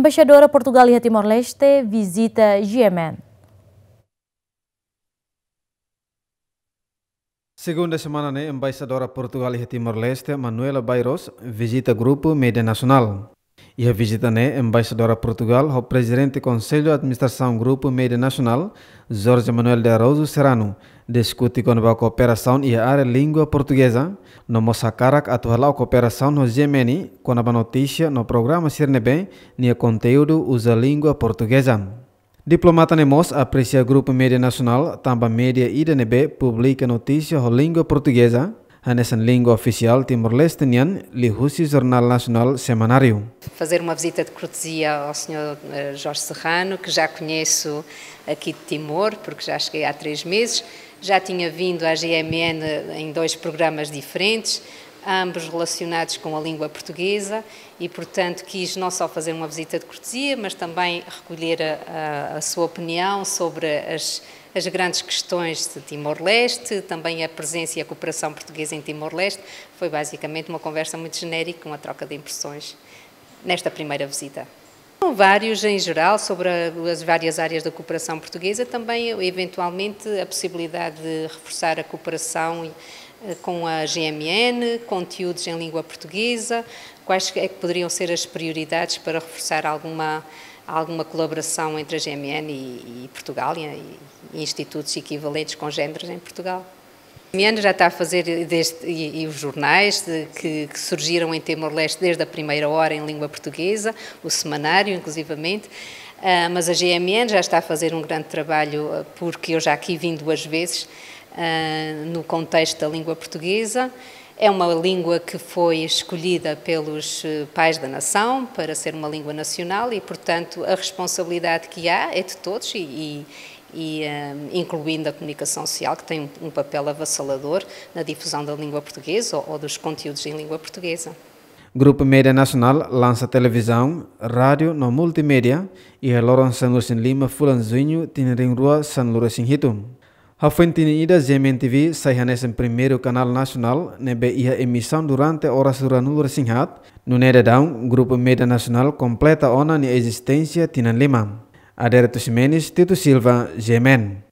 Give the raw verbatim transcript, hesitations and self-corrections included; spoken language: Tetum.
Embaixadora Portugal iha Timor-Leste vizita G M N. Segunda semana ne'e, Embaixadora Portugal iha Timor-Leste, Manuela Bairros, vizita Grupu Média Nasionál. Iha vizita ne'e, Embaixadora Portugal ho Prezidente Konsellu Administrasaun Grupu Média Nasionál, Jorge Manuel de Araújo Serrano, diskute kona-ba kooperasaun iha área língua portugeza, no mós hakarak atu hala'o kooperasaun ho G M N kona-ba notísia no programa sira ne'ebé nia konteúdu uza língua portugeza. Diplomata ne'e mós apresia Grupu Média Nasionál tanba média ida ne'ebé publika notísia ho língua portugeza, hanesan língua ofisiál Timor-Leste nian, liuhusi Jornál Nasionál Semanáriu. Fazer uma visita de cortesia ao senhor, eh, Jorge Serrano, que já conheço aqui de Timor, porque já cheguei há três meses. Já tinha vindo à G M N em dois programas diferentes, ambos relacionados com a língua portuguesa, e, portanto, quis não só fazer uma visita de cortesia, mas também recolher a, a, a sua opinião sobre as, as grandes questões de Timor-Leste, também a presença e a cooperação portuguesa em Timor-Leste. Foi basicamente uma conversa muito genérica, uma troca de impressões nesta primeira visita. Vários em geral sobre a, as várias áreas da cooperação portuguesa, também eventualmente a possibilidade de reforçar a cooperação, eh, com a G M N, conteúdos em língua portuguesa, quais é que poderiam ser as prioridades para reforçar alguma, alguma colaboração entre a G M N e, e Portugal e, e institutos equivalentes congéneres em Portugal. A G M N já está a fazer desde, e, e os jornais de, que, que surgiram em Timor-Leste desde a primeira hora em língua portuguesa, o semanário, inclusivamente, ah, mas a G M N já está a fazer um grande trabalho, ah, porque eu já aqui vim duas vezes, ah, no contexto da língua portuguesa. É uma língua que foi escolhida pelos, eh, pais da nação para ser uma língua nacional e, portanto, a responsabilidade que há é de todos e, e, e, eh, incluindo a comunicação social, que tem um, um papel avassalador na difusão da língua portuguesa ou, ou dos conteúdos em língua portuguesa. Grupu Média Nasionál lansa televizaun, rádiu no multimédia iha loron sanulu-resin-lima fulan Juñu tinan rihun rua sanulu-resin-hitu. Hafoin tinan ida, G M N T V sai hanesan primeiru kanál nasionál ne'ebé iha emisaun durante oras ruanulu-resin-haat, nune'e daudaun Grupu Média Nasionál kompleta ona nia ezisténsia tinan lima. Adérito Ximenes, Tito Silva, G M N.